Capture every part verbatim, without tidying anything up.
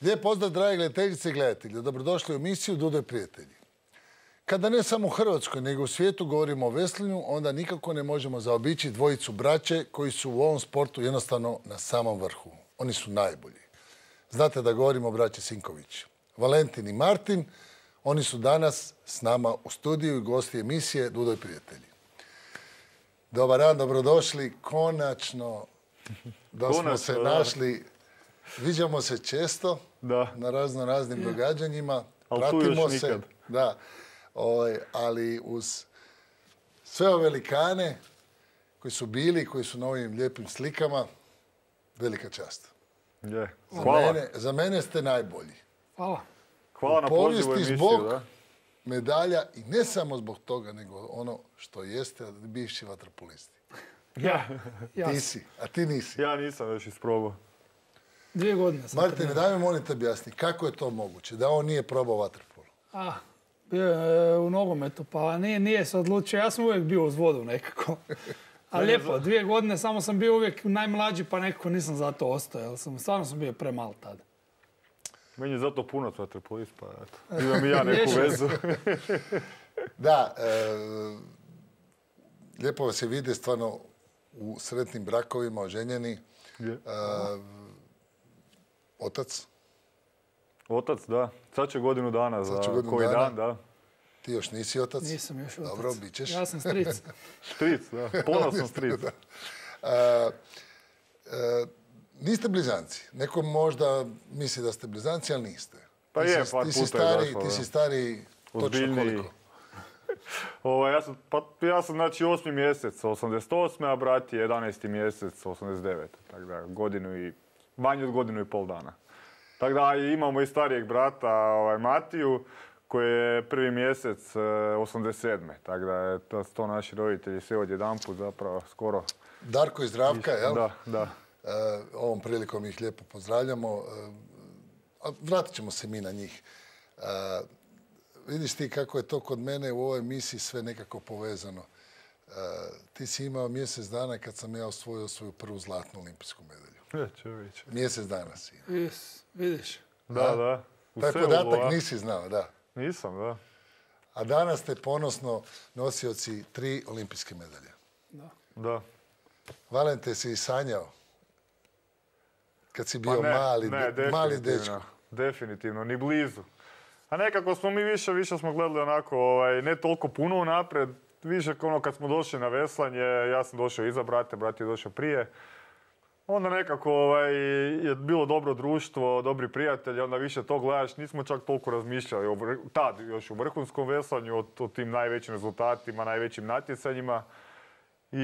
Lijep pozdrav, dragi gledateljice i gledatelji. Dobrodošli u emisiju Dudo i prijatelji. Kada ne samo u Hrvatskoj, nego u svijetu govorimo o veslanju, onda nikako ne možemo zaobići dvojicu braće koji su u ovom sportu jednostavno na samom vrhu. Oni su najbolji. Znate da govorimo o braći Sinković. Valentin i Martin, oni su danas s nama u studiju i gosti emisije Dudo i prijatelji. Dobar dan, dobrodošli. Konačno da smo se našli. Viđamo se često na razno raznim događanjima. Pratimo se. Da. Ali uz sve ove velikane koji su bili, koji su na ovim lijepim slikama, velika čast. Za mene ste najbolji. Hvala. Hvala na pozivu emisiju. Zbog medalja i ne samo zbog toga, nego ono što jeste bivši vaterpolisti. Ja. Ti si, a ti nisi. Ja nisam još isprobao. Dvije godine sam. Martine, daj me molim te objasni, kako je to moguće da on nije probao vaterpolo? A, bio je u nogometu, pa nije, nije se odlučio. Ja sam uvijek bio uz vodu nekako. A lijepo, dvije godine samo sam bio uvijek najmlađi, pa nekako nisam zato ostao. Jer sam, stvarno sam bio premal tada. Meni je zato puno vaterpolist, pa eto. Imam i ja neku vezu. Da, e, lijepo vas je vidi stvarno u sretnim brakovima, oženjeni. E, otac? Otac, da. Sad će godinu dana za godinu koji dana. dan, da. Ti još nisi otac? Nisam još otac. Dobro, bit ćeš. Ja sam stric. Stric, da. Ponosan stric. Da. E, e, niste blizanci. Neko možda misli da ste blizanci, ali niste. Pa ti je, si, par ti si puta stari, je došlo. Ti si stari točno koliko? Ovo, ja, sam, pa, ja sam znači osmi mjesec osamdeset osme, a brat je jedanaesti mjesec osamdeset devete. Tako da godinu i, manje od godinu i pol dana. Tako da imamo i starijeg brata ovaj, Matiju, koji je prvi mjesec osamdeset sedme. Tako da je to, to naši roditelji sve odjedanput zapravo skoro. Darko i Zdravka, jel? Da, da. E, ovom prilikom ih lijepo pozdravljamo. E, vratit ćemo se mi na njih. E, vidiš ti kako je to kod mene u ovoj emisiji sve nekako povezano. E, ti si imao mjesec dana kad sam ja osvojio svoju prvu zlatnu olimpijsku medalju. Je, čovječe. Mjesec dana si. Vis, vidiš. Da, da. da. Taj podatak nisi znao, da. Nisam, da. A danas ste ponosno nosioci tri olimpijske medalje. Da. Da. Valente, si i sanjao? Kad si bio pa ne, mali, ne, mali dečko. Definitivno, ni blizu. A nekako smo mi više, više smo gledali onako, ovaj, ne toliko puno unaprijed. Više ono kad smo došli na veslanje, ja sam došao iza brate, brat je došao prije. Onda nekako ovaj, je bilo dobro društvo, dobri prijatelji, onda više to gledaš. Nismo čak toliko razmišljali, o, tad još u vrhunskom veslanju, o, o tim najvećim rezultatima, najvećim natjecanjima. I,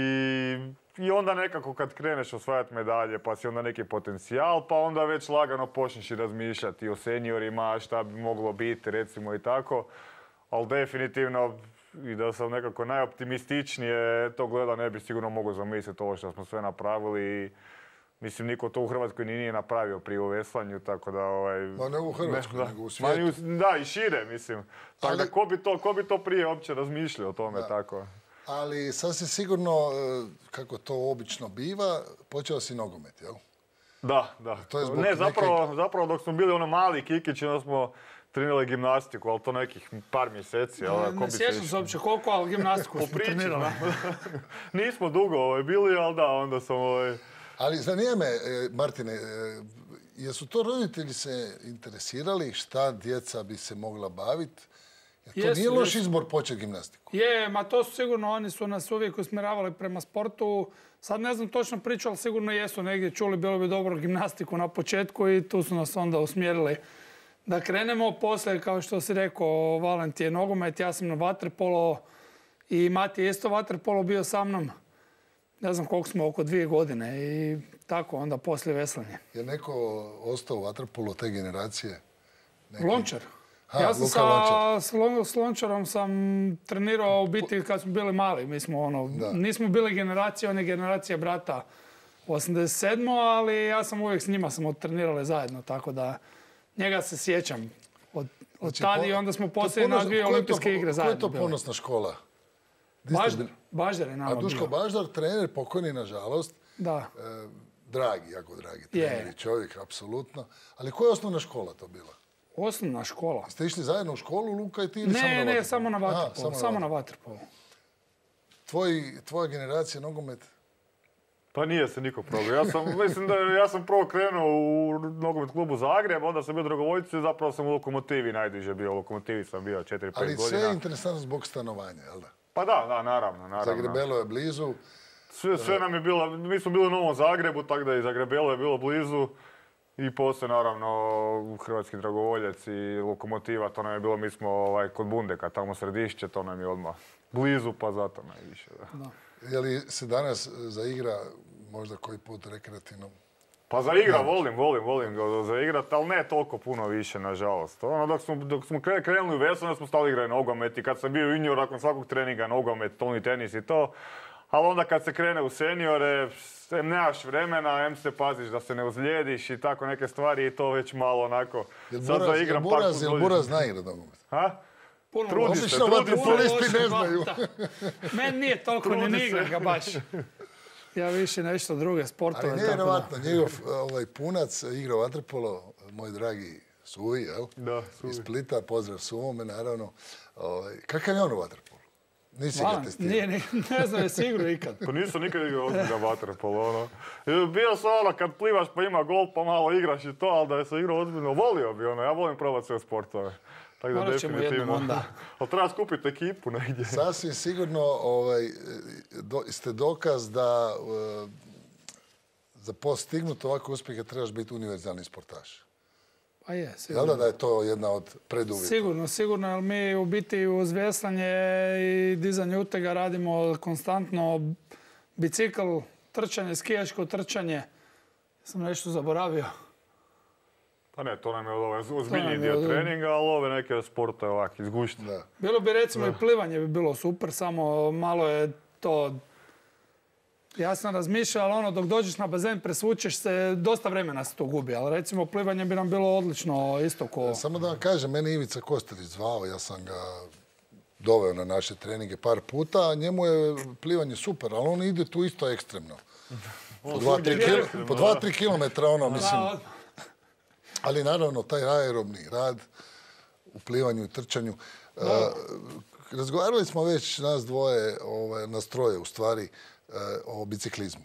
I onda nekako kad kreneš osvajati medalje, pa si onda neki potencijal, pa onda već lagano počneš i razmišljati o seniorima, šta bi moglo biti, recimo i tako. Ali definitivno, i da sam nekako najoptimističnije to gleda, ne bi sigurno mogao zamisliti ovo što smo sve napravili. Mislim, niko to u Hrvatskoj nije napravio prije u veslanju, tako da... Ovaj, Ma ne u Hrvatskoj, ne, nego u svijetu. Da, i šire, mislim. Tako ali, da, ko bi, to, ko bi to prije uopće razmišljao o tome, da. Tako? Ali sasvim sigurno, kako to obično biva, počeo si nogomet, jel? Da, da. To je ne, zapravo, neke... zapravo dok smo bili ono mali kikići, onda smo trenirali gimnastiku, ali to nekih par mjeseci. Ne, ali, ne sjećam se uopće koliko, ali gimnastiku smo trenirali. Nismo dugo ovaj, bili, ali da, onda sam... Ovaj... Ali zanima me, Martine, jesu to roditelji se interesirali šta djeca bi se mogla baviti? To jesu, nije loš jesu. Izbor početi gimnastiku. Je, ma to su sigurno, oni su nas uvijek usmjeravali prema sportu. Sad ne znam točno priču, ali sigurno jesu negdje čuli, bilo bi dobro gimnastiku na početku i tu su nas onda usmjerili da krenemo. Poslije, kao što si rekao, Valent je nogomet, ja sam na vaterpolo i Mati je isto vaterpolo bio sa mnom. Ne znam koliko smo, oko dvije godine i tako onda poslije veslanje. Je neko ostao u vaterpolu te generacije? Neki... Lončar. Ha, ja sam sa, s, Lon, s Lončarom sam trenirao u biti kad smo bili mali. Mi smo ono, nismo bili generacija, on je generacija brata osamdeset sedme ali ja sam uvijek s njima sam trenirali zajedno, tako da njega se sjećam od, od znači, tada i onda smo poslije na dvije olimpijske igre zajedno. Koja je to ponosna škola? Baždar, Baždar je nama bio. A Duško Baždar, trener, pokojni nažalost. Da. E, dragi, jako dragi trener i čovjek, apsolutno. Ali koja je osnovna škola to bila? Osnovna škola? Ste išli zajedno u školu, Luka i ti, ili samo na Ne, vaterpolu? ne, samo na vaterpolu. Aha, samo Samo na na vaterpolu. Tvoj, tvoja generacija nogomet? Pa nije se niko probao. Ja sam, mislim da ja sam prvo krenuo u nogomet klubu Zagreb, onda sam bio dragovoljci i zapravo sam u Lokomotivi najduže bio. U Lokomotivi sam bio četiri pet godina. Ali sve je interesantno zbog stanovanja, jel da? Pa da, da, naravno, naravno. Zagrebelo je blizu. Sve, sve nam je bilo, mi smo bili u Novom Zagrebu, tako da i Zagrebelo je bilo blizu. I poslije, naravno, Hrvatski dragovoljac i Lokomotiva, to nam je bilo, mi smo ovaj, kod Bundeka, tamo središće, to nam je odmah blizu, pa zato najviše. Da. Da. Je li se danas zaigra možda koji put rekreativno? Pa za igra volim, volim, volim ga za igrat, ali ne toliko puno više, nažalost. Ono, dok smo, dok smo krenuli u veslanje, onda smo stali igrati nogomet i kad sam bio junior, nakon svakog treninga nogomet, stolni tenis i to. Ali onda kad se krene u seniore, em nemaš vremena, em se paziš da se ne ozlijediš i tako neke stvari i to već malo onako... Jel sad Buraz, zaigram jel par Buraz, jel put Buraz zna igrat nogomet? Ha? Puno Trudi loše. se, Obično trudi se. vaterpolisti ne znaju. Meni nije toliko ni Trudi se. igra ga baš. Ja više nešto druge sportove. Ali nevjerovatno, njegov ovaj, punac igra vaterpolo, moj dragi Suvi, jel? Da, Suvi. Iz Splita, pozdrav Suvome, naravno. Ovaj, kakav je on u vaterpolu? Nisi ga testirao? Nije, nije, ne znam, jesi igrao ikad. Pa nisam nikad igrao ozbiljno vaterpolo, ono. Bio sam ono, kad plivaš pa ima gol pa malo igraš i to, ali da je se igrao ozbiljno, volio bi ono, ja volim probati sve sportove. Tako da Morat ćemo jednom definitivno. onda. Ali treba skupiti ekipu negdje. Sasvim sigurno ovaj, do, ste dokaz da uh, za postignut ovako uspjehe trebaš biti univerzalni sportaš. Pa je, Jel sigurno. da, da je to jedna od preduvjeta? Sigurno, sigurno, jer mi u biti uz veslanje i dizanje utega radimo konstantno bicikl, trčanje, skijaško trčanje. Sam nešto zaboravio. Pa ne, to nam je ovaj nam ozbiljniji je dio od- treninga, ali ove neke sporte ovak izgušti. Da. Bilo bi recimo i plivanje bi bilo super, samo malo je to... Ja sam razmišljao, ali ono, dok dođeš na bazen, presvučeš se, dosta vremena se to gubi, ali recimo plivanje bi nam bilo odlično isto ko... Samo da vam kažem, mene Ivica Kostelić zvao, ja sam ga doveo na naše treninge par puta, a njemu je plivanje super, ali on ide tu isto ekstremno. Po dva, tri svugdje kil- ekstremno, po dva, da. tri kilometra, ono, mislim. Da, Ali naravno, taj aerobni rad u plivanju i trčanju. E, razgovarali smo već nas dvoje, ovaj, nas troje u stvari, e, o biciklizmu.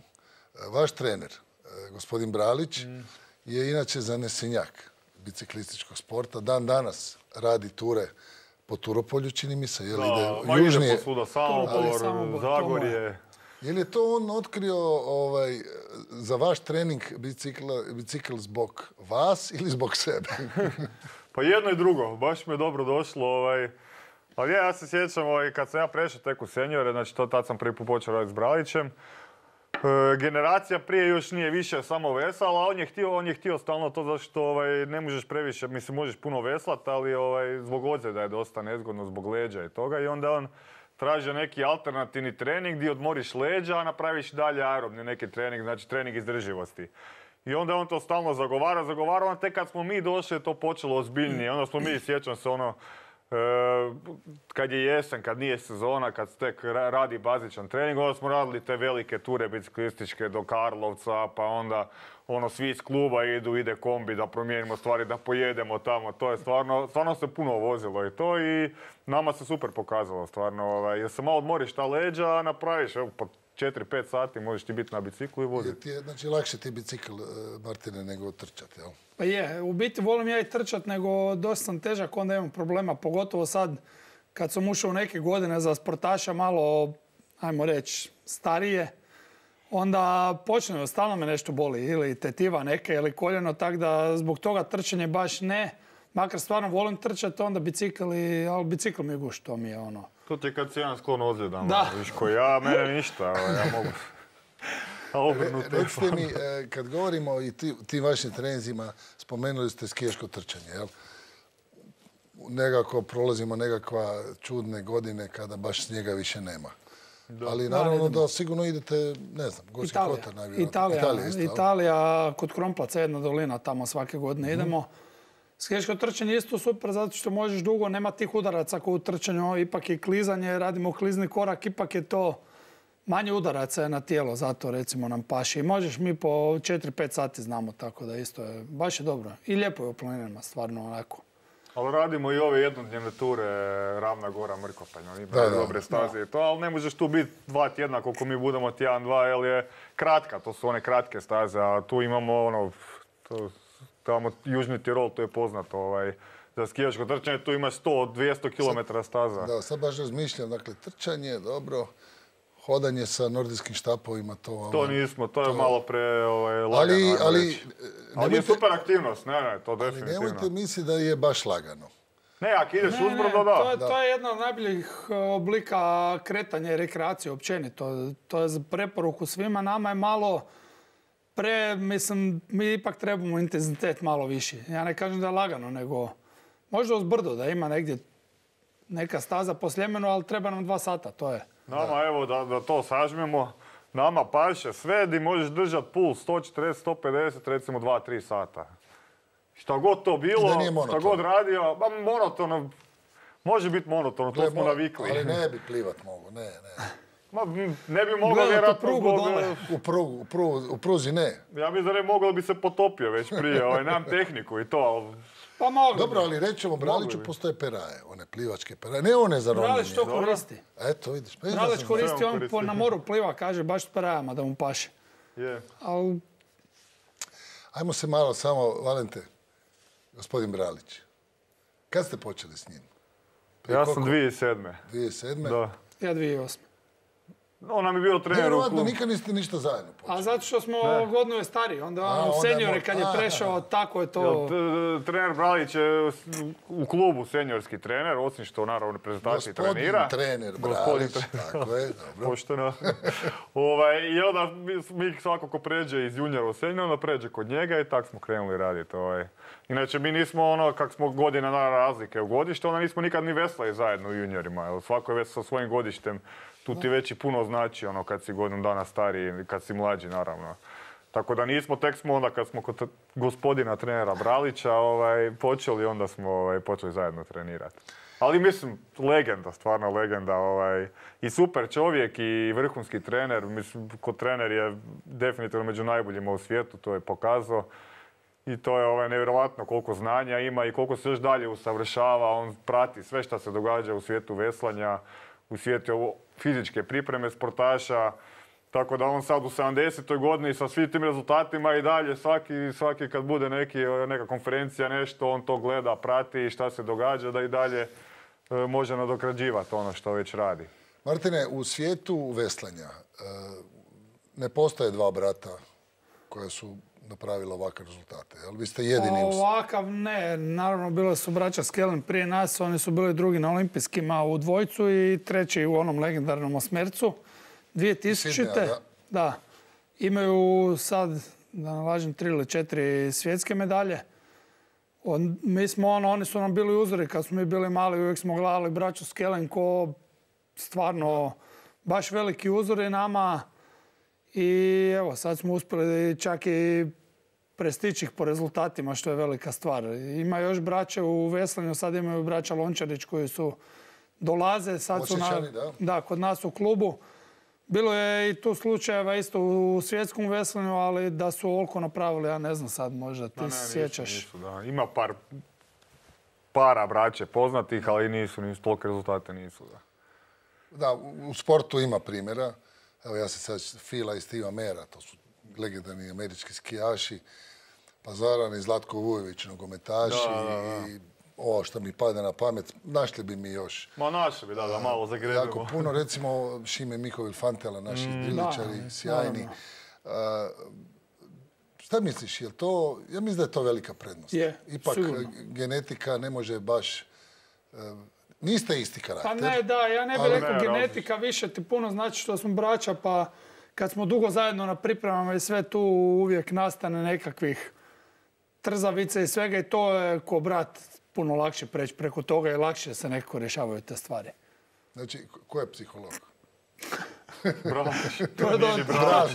E, vaš trener, e, gospodin Bralić, je inače zanesenjak biciklističkog sporta. Dan danas radi ture po Turopolju, čini mi se, je li Da, ide ma ide južnije. posvuda, Turopolje, Samobor, Samobor, Zagorje. Je li je to on otkrio ovaj, za vaš trening bicikla, bicikl zbog vas ili zbog sebe? Pa jedno i drugo, baš mi je dobro došlo. Ovaj. Ali ja, ja se sjećam ovaj, kad sam ja prešao tek u seniore, znači to tad sam prvi put počeo raditi s Bralićem. E, generacija prije još nije više samo vesala, a on je htio, on je htio stalno to zašto ovaj, ne možeš previše, mislim možeš puno veslat, ali ovaj, zbog ozljeda je dosta nezgodno, zbog leđa i toga. I onda on tražio neki alternativni trening gdje odmoriš leđa, a napraviš dalje aerobni neki trening, znači trening izdrživosti. I onda on to stalno zagovara, zagovara, onda tek kad smo mi došli je to počelo ozbiljnije. Onda smo mi, sjećam se ono, e, kad je jesen, kad nije sezona, kad se tek ra- radi bazičan trening, onda smo radili te velike ture biciklističke do Karlovca, pa onda ono, svi iz kluba idu, ide kombi da promijenimo stvari, da pojedemo tamo. To je stvarno, stvarno se puno vozilo i to i nama se super pokazalo stvarno. Ovaj, jer se malo odmoriš ta leđa, napraviš, evo, po četiri pet sati možeš ti biti na biciklu i Je voziti. ti je, znači, lakše ti bicikl, e, Martine, nego trčati, jel? Pa je, u biti volim ja i trčat, nego dosta sam težak, onda imam problema, pogotovo sad kad sam ušao u neke godine za sportaša malo, ajmo reći, starije, onda počne, stalno me nešto boli, ili tetiva neke, ili koljeno, tako da zbog toga trčanje baš ne. Makar stvarno volim trčati, onda bicikl, i, ali bicikl mi je guš, to mi je ono. To ti je kad si jedan sklon ozljedama, Da. viš ko ja, mene ništa, ovaj, ja mogu. A obrnuto. Recite mi, e, kad govorimo o i ti- tim vašim treninzima, spomenuli ste skijaško trčanje, jel? Nekako prolazimo nekakva čudne godine kada baš snijega više nema. Ali naravno da sigurno idete, ne znam, Gorski Italija, Kotar najvjerojatnije. Italija, Italija isto, jel? Italija, kod Kromplaca, jedna dolina, tamo svake godine idemo. Skijaško trčanje je isto super zato što možeš dugo, nema tih udaraca kao u trčanju, ipak je klizanje, radimo klizni korak, ipak je to manje udaraca je na tijelo, zato recimo nam paši. I možeš mi po četiri pet sati znamo, tako da isto je, baš je dobro. I lijepo je u planinama, stvarno onako. Ali radimo i ove jednodnevne ture, Ravna Gora, Mrkopanj, oni imaju dobre staze i to, ali ne možeš tu biti dva tjedna koliko mi budemo tjedan, dva, jer je kratka, to su one kratke staze, a tu imamo ono, to, tamo Južni Tirol, to je poznato, ovaj, za skijaško trčanje, tu ima sto do dvjesto kilometara staza. Da, sad baš razmišljam, dakle, trčanje, dobro, hodanje sa nordijskim štapovima, to... To nismo, to je to... malo pre ovaj, lagano. Ali, ali, ali je super aktivnost, ne, ne, to definitivno. Ali nemojte misliti da je baš lagano. Ne, ako ideš ne, uzbrdo, da. To je, da. to je jedna od najboljih oblika kretanja i rekreacije općenito. To je za preporuku svima. Nama je malo pre, mislim, mi ipak trebamo intenzitet malo viši. Ja ne kažem da je lagano, nego možda uzbrdo, da ima negdje neka staza po Sljemenu, ali treba nam dva sata, to je. Nama, da. evo, da, da to sažmemo, nama paše sve di možeš držati puls sto četrdeset do sto pedeset, recimo dva do tri sata. Šta god to bilo, šta god radio, ba, monotono, može biti monotono, to smo navikli. Ali ne bi plivat mogu, ne, ne. Ma, ne bi mogao vjerojatno zbog... U, prugu, u, prugu, u pruzi ne. Ja mislim da ne mogao bi se potopio već prije, ovaj, nemam tehniku i to, ali... Pa mogu. Dobro, ali rećemo, Braliću postoje peraje, one plivačke peraje, ne one za ronjenje. Bralić to koristi. Eto, vidiš. Pa Bralić koristi, on po, na moru pliva, kaže, baš s perajama da mu paše. Je. Al... Ajmo se malo samo, Valente, gospodin Bralić. Kad ste počeli s njim? Prije ja sam dvije tisuće sedme. dvije tisuće sedme? Da. Ja dvije tisuće osme. On nam je bio trener u klubu. Vjerovatno nikad niste ništa zajedno počeli. A zato što smo godinu je stariji, onda on seniori kad je prešao, tako je to... Trener Bralić je u klubu seniorski trener, osim što naravno reprezentaciji trenira. Gospodin trener Bralić, tako je, dobro. Pošteno. ovaj, I onda mi svako ko pređe iz juniora u senior, onda pređe kod njega i tak smo krenuli raditi. Ovaj. Inače, mi nismo ono, kak smo godina na razlike u godište, onda nismo nikad ni veslali zajedno u juniorima. Svako je već sa svojim godištem. Tu ti već i puno znači ono kad si godinu dana stariji, kad si mlađi naravno. Tako da nismo, tek smo onda kad smo kod gospodina trenera Bralića ovaj, počeli, onda smo ovaj, počeli zajedno trenirati. Ali mislim, legenda, stvarno legenda. Ovaj, i super čovjek i vrhunski trener. Mislim, kod trener je definitivno među najboljima u svijetu, to je pokazao. I to je ovaj, nevjerojatno koliko znanja ima i koliko se još dalje usavršava. On prati sve što se događa u svijetu veslanja, u svijetu fizičke pripreme sportaša, tako da on sad u sedamdesetoj godini sa svim tim rezultatima i dalje svaki, svaki kad bude neki, neka konferencija, nešto, on to gleda, prati šta se događa, da i dalje e, može nadograđivati ono što već radi. Martine, u svijetu veslanja e, ne postoje dva brata koja su napravila ovakve rezultate, ali vi ste jedini... Ovakav ne, naravno bile su braća Skelen prije nas, oni su bili drugi na olimpijskima u dvojcu i treći u onom legendarnom osmercu. dvije tisućite. Da. da. Imaju sad, da ne lažem, tri ili četiri svjetske medalje. On, mi smo ono, oni su nam bili uzori kad smo mi bili mali, uvijek smo gledali braću Skelen ko stvarno baš veliki uzori nama. I evo, sad smo uspjeli čak i prestići ih po rezultatima, što je velika stvar. Ima još braće u veslanju, sad imaju braća Lončarić koji su dolaze, sad su na, da. Da, kod nas u klubu. Bilo je i tu slučajeva isto u svjetskom veslanju, ali da su ovoliko napravili, ja ne znam sad, možda ti ne, se ne, sjećaš. Nisu, nisu, da. Ima par para braće poznatih, ali nisu, nisu toliko rezultate nisu. Da. Da, u sportu ima primjera. Evo ja se sad Fila i Stiva Mera, to su legendarni američki skijaši, pa Zoran i Zlatko Vujović, nogometaši da, da, da. i ovo što mi padne na pamet, našli bi mi još. Ma našli bi, da, da malo zagrebimo. Jako puno, recimo Šime Mihovil Fantela, naši mm, driličari, da, sjajni. Da, da. Uh, šta misliš, je to, ja mislim da je to velika prednost. Je, Ipak sigurno. Genetika ne može baš... Uh, Niste isti karakter. Pa ne, da, ja ne bih rekao genetika, više ti puno znači što smo braća, pa kad smo dugo zajedno na pripremama i sve tu uvijek nastane nekakvih trzavica i svega i to je ko brat puno lakše preći preko toga i lakše se nekako rješavaju te stvari. Znači, ko je psiholog? Bralić. To je dobro. Bralić.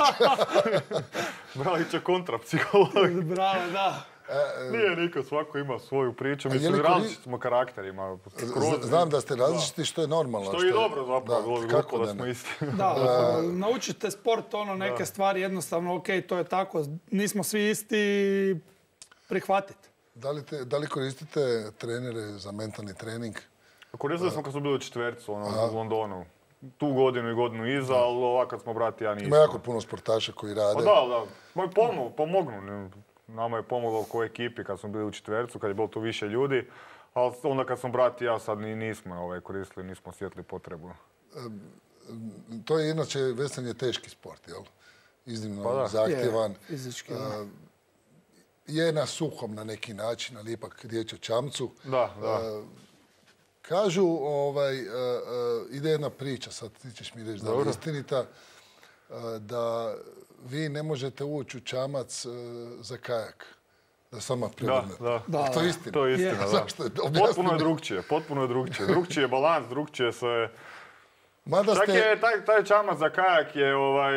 Bralić je kontrapsiholog. Bravo, da. Nije niko, svako ima svoju priču. Mislim, kori... različiti smo karakterima. Skroz, znam da ste različiti, da. Što je normalno. Što je što... dobro zapravo, da, kako da, da smo isti. Da, da, naučite sport, ono, neke da. Stvari jednostavno, ok, to je tako, nismo svi isti, prihvatiti. Da li, te, da li koristite trenere za mentalni trening? Koristili smo kad smo bili u četvercu, ono, u Londonu. Tu godinu i godinu iza, da. Ali ovak kad smo brati, ja nisam. Ima jako puno sportaša koji rade. Pa da, da. Moj pomogu, pomognu. Nama je pomoglo ko ekipi kad smo bili u četvercu, kad je bilo tu više ljudi. Ali onda kad smo brati, ja sad nismo ovaj, koristili, nismo osjetili potrebu. E, to je inače veslanje teški sport, jel? Iznimno pa zahtjevan. Je, fizički. E, je na suhom na neki način, ali ipak riječ o čamcu. Da, da. E, kažu, ovaj, e, e, ide jedna priča, sad ti ćeš mi reći da je istinita, e, da vi ne možete ući u čamac e, za kajak. Da sama prevrnete. Da, da. Da, to je istina. To je istina, da. Zašto je? Potpuno je drugčije, potpuno je drugčije. Drugčije je balans, drugčije se... Mada Čak ste... je, taj, taj čamac za kajak je ovaj...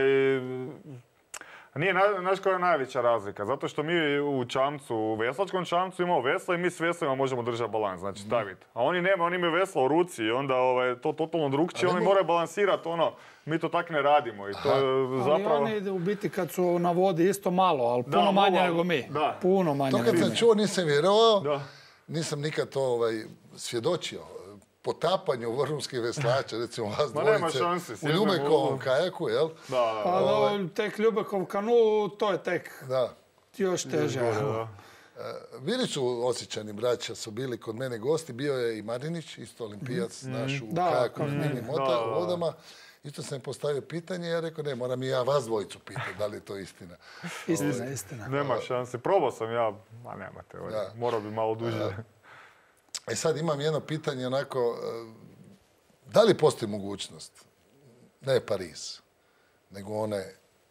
Nije, znaš koja je najveća razlika? Zato što mi u čamcu, u veslačkom čamcu imamo vesla i mi s veslima možemo držati balans, znači staviti. A oni nema, oni imaju vesla u ruci i onda ovaj, to totalno drugčije, oni moraju balansirati ono, mi to tak ne radimo i to je zapravo... Ali oni u biti kad su na vodi isto malo, ali puno da, manje nego mi. Da. Puno manje to kad sam čuo nisam vjerovao, da. Nisam nikad to ovaj, svjedočio. Potapanju vrhunskih veslača, recimo vas dvojice, u Ljubekovom kajaku, jel? Da, da. Pa ovaj... tek Ljubekov kanu, to je tek da. Još teže. Da, da. Bili su Osječani braća, su bili kod mene gosti, bio je i Marinić, isto olimpijac, mm. naš u da, kajaku na mini mota, u vodama. Isto sam postavio pitanje, ja rekao, ne, moram i ja vas dvojicu pitati, da li je to istina. Istina, o, istina. Nema šanse, probao sam ja, ma nemate, morao bi malo duže. E sad imam jedno pitanje, onako, da li postoji mogućnost, ne Pariz, nego one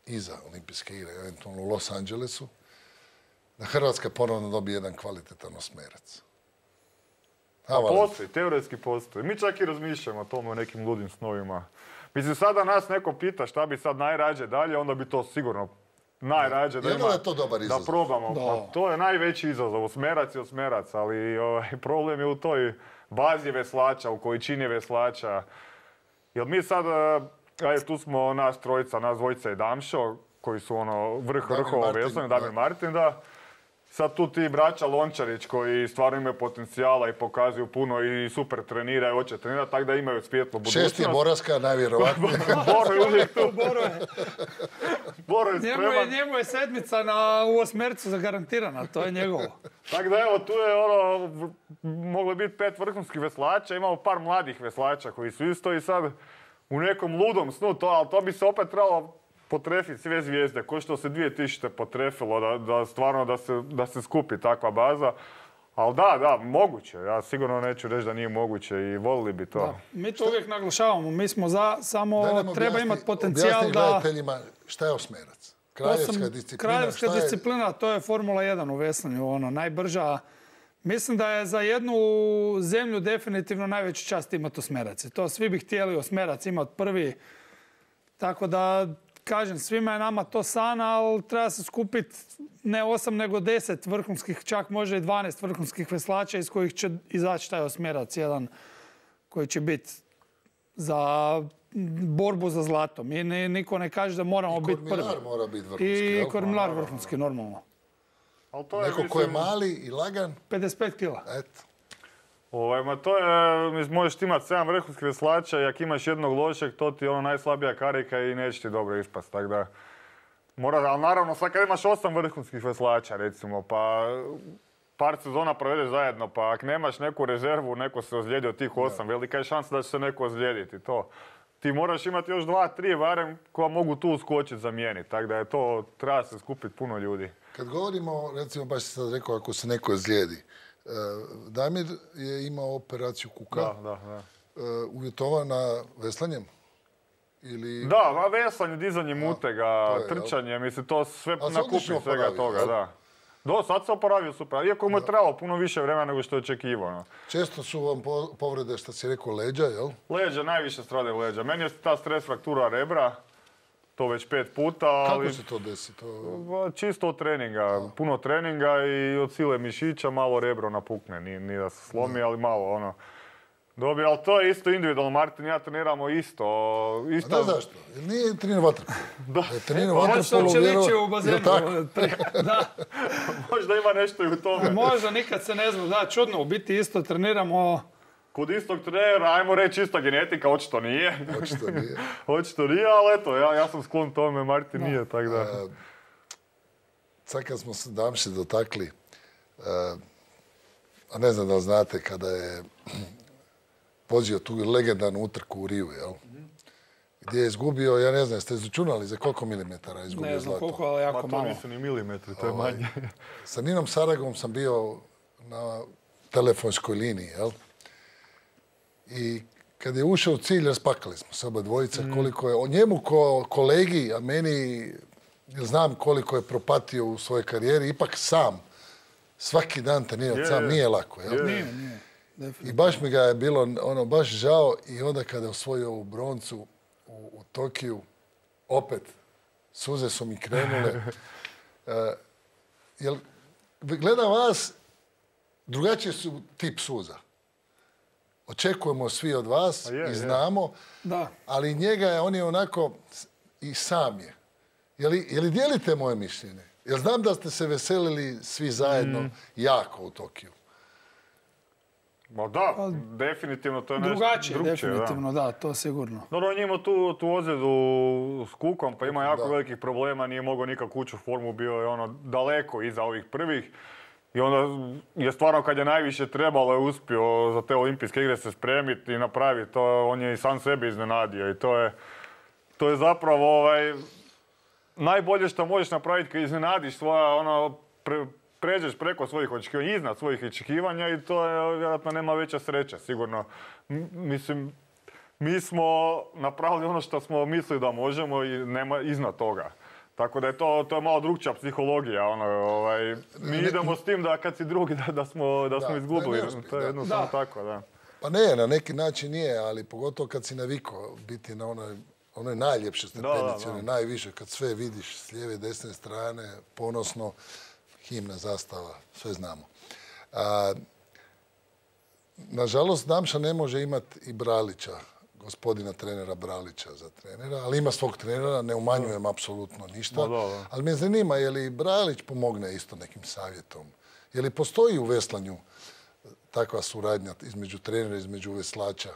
iza olimpijske igre, eventualno u Los Angelesu, da Hrvatska ponovno dobije jedan kvalitetan osmerac? Pa postoji, teoretski postoji. Mi čak i razmišljamo o tome, o nekim ludim snovima. Mislim, sada nas neko pita šta bi sad najrađe dalje, onda bi to sigurno najrađe da, ima, da, to dobar da probamo. Da. Pa, to je najveći izazov, osmerac i osmerac, ali ovaj, problem je u toj bazi veslača, u količini veslača. Jer mi sad, aj, tu smo nas trojica, nas dvojica i Damšo, koji su ono vrh vrhova veslanja, Damir Martin, da. Sad tu ti braća Lončarić koji stvarno imaju potencijala i pokazuju puno i super treniraju, hoće trenirati, tako da imaju svjetlu budućnost. Šest je Boraska, najvjerojatnije. Boro je uvijek tu. Boro je. Boro je spreman. Njemu je, njemu je sedmica na, u osmercu zagarantirana, to je njegovo. Tako da evo, tu je ono, moglo biti pet vrhunskih veslača, imamo par mladih veslača koji su isto i sad u nekom ludom snu, to, ali to bi se opet trebalo potrefiti sve zvijezde, ko što se dvije tisuće potrefilo, da, da stvarno da se, da se skupi takva baza. Ali da, da, moguće. Ja sigurno neću reći da nije moguće i volili bi to. Da, mi to uvijek naglašavamo. Mi smo za, samo da treba imati potencijal da... Objasni gledateljima šta je osmerac. Kraljevska disciplina. Kraljevska šta je... disciplina, to je Formula jedan u veslanju, ono, najbrža. Mislim da je za jednu zemlju definitivno najveću čast imati osmerac. To svi bi htjeli osmerac imati prvi. Tako da... Kažem, svima je nama to san, ali treba se skupiti ne osam nego deset vrhunskih, čak može i dvanaest vrhunskih veslača iz kojih će izaći taj osmerac jedan koji će biti za borbu za zlato. Mi niko ne kaže da moramo biti prvi. I kormilar mora biti vrhunski. I kormilar vrhunski, normalno. Neko ko je mali i lagan? pedeset pet kila. Eto. Ovaj, ma to je, možeš imati sedam vrhunskih veslača i ako imaš jednog lošeg, to ti je ono najslabija karika i neće ti dobro ispast, tako da... Mora, ali naravno, sad kad imaš osam vrhunskih veslača, recimo, pa par sezona provedeš zajedno, pa ako nemaš neku rezervu, neko se ozlijedi od tih osam, velika je šansa da će se neko ozlijediti, to. Ti moraš imati još dva, tri barem koja mogu tu uskočiti, zamijeniti, tako da je to, treba se skupiti puno ljudi. Kad govorimo, recimo, baš si sad rekao, ako se neko ozlijedi, Damir je imao operaciju kuka, da, da, da. uvjetovana veslanjem? Ili... Da, veslanje, dizanje mutega, je, trčanje, jel? Mislim, to sve nakupi svega toga, jel? Da. Do, sad se oporavio super, iako mu je trebalo puno više vremena nego što je očekivano. Često su vam povrede, što si rekao, leđa, jel? Leđa, najviše stradaju leđa. Meni je ta stres fraktura rebra, to već pet puta. Ali... Kako se to desi? To... Čisto od treninga. Puno treninga i od sile mišića malo rebro napukne. Nije, nije da se slomi, ali malo ono... Dobije, ali to je isto individualno. Martin i ja treniramo isto. isto... A da, zašto? Jer nije trenirao vaterpolo. Da. Je trenirao vaterpolo, vjerovatno. u bazenu. Da. Možda ima nešto i u tome. Možda, nikad se ne zna. Da, čudno, u biti isto treniramo... Kod istog trenera, ajmo reći ista genetika, očito nije. Očito nije. Očito nije, ali eto, ja, ja sam sklon tome, Martin da. nije, tako da... Uh, sad kad smo se Damše dotakli, uh, a ne znam da li znate, kada je vozio tu legendarnu utrku u Riju, jel? Mm-hmm. Gdje je izgubio, ja ne znam, jeste izračunali za koliko milimetara je izgubio zlato? Ne znam zlato? koliko, ali jako Ma, malo. to nisu ni milimetri, to je ovaj, manje. Sa Ninom Saragom sam bio na telefonskoj liniji, jel? I kad je ušao u cilj, raspakali smo se oba dvojica, mm. koliko je o njemu ko kolegi, a meni, znam koliko je propatio u svojoj karijeri, ipak sam, svaki dan trenirati yeah. sam, nije lako, jel? Yeah. Nije, nije. Definitivno. I baš mi ga je bilo ono baš žao i onda kada je osvojio ovu broncu u, u Tokiju, opet, suze su mi krenule. uh, jel, gledam vas, drugačiji su tip suza. Očekujemo svi od vas je, i znamo, da. Ali njega je, on je onako i sam je. Je li, je li dijelite moje mišljenje? Jer znam da ste se veselili svi zajedno mm. jako u Tokiju. Ma da, A, definitivno to je nešto drugačije. Definitivno, da. da, to sigurno. Dobro, on je imao tu, tu ozljedu s kukom, pa ima jako da. velikih problema, nije mogao nikak ući u formu, bio je ono daleko iza ovih prvih. I onda je stvarno kad je najviše trebalo je uspio za te olimpijske igre se spremiti i napraviti to, on je i sam sebe iznenadio i to je, to je zapravo ovaj, najbolje što možeš napraviti kad iznenadiš svoja, ono, pre, pređeš preko svojih očekivanja, iznad svojih očekivanja i to je, vjerojatno nema veća sreća, sigurno. M- mislim, mi smo napravili ono što smo mislili da možemo i nema iznad toga. Tako da je to, to je malo drugčija psihologija. Ono, ovaj, mi ne, idemo s tim da kad si drugi da, da smo, da smo da, izgubili. Ne, ne to je jednostavno da. tako, da. Pa ne, na neki način nije, ali pogotovo kad si navikao biti na onoj, onoj najljepšoj stepenici, onoj najviše, kad sve vidiš s lijeve i desne strane, ponosno, himna, zastava, sve znamo. A, nažalost, Damša ne može imati i Bralića, gospodina trenera Bralića za trenera, ali ima svog trenera, ne umanjujem da. apsolutno ništa. Da, da. Ali me zanima, je li Bralić pomogne isto nekim savjetom? Je li postoji u veslanju takva suradnja između trenera i između veslača?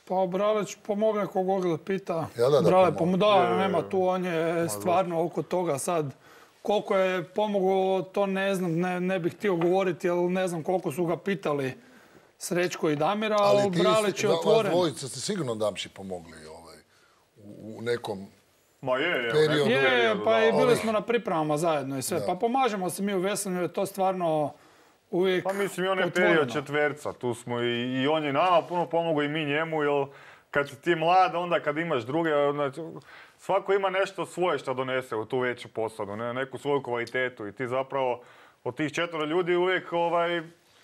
Pa Bralić pomogne kogod da pita. Ja, da, da, Bralić pomogne. Da, nema tu, on je stvarno oko toga sad. Koliko je pomogao, to ne znam, ne, ne bih htio govoriti, jer ne znam koliko su ga pitali Srećko i Damira, ali, ali Bralić je otvoren. Ali dvojica ste sigurno Damši pomogli ovaj, u, u nekom Ma je, je, periodu. Je, je, pa i bili smo na pripremama zajedno i sve. Da. Pa pomažemo se mi u veslanju, je to stvarno uvijek Pa mislim, i on je period četverca, tu smo i, i on je nama puno pomogao i mi njemu, jer kad si ti mlad, onda kad imaš druge, znači, svako ima nešto svoje što donese u tu veću posadu, ne, neku svoju kvalitetu i ti zapravo od tih četvero ljudi uvijek ovaj,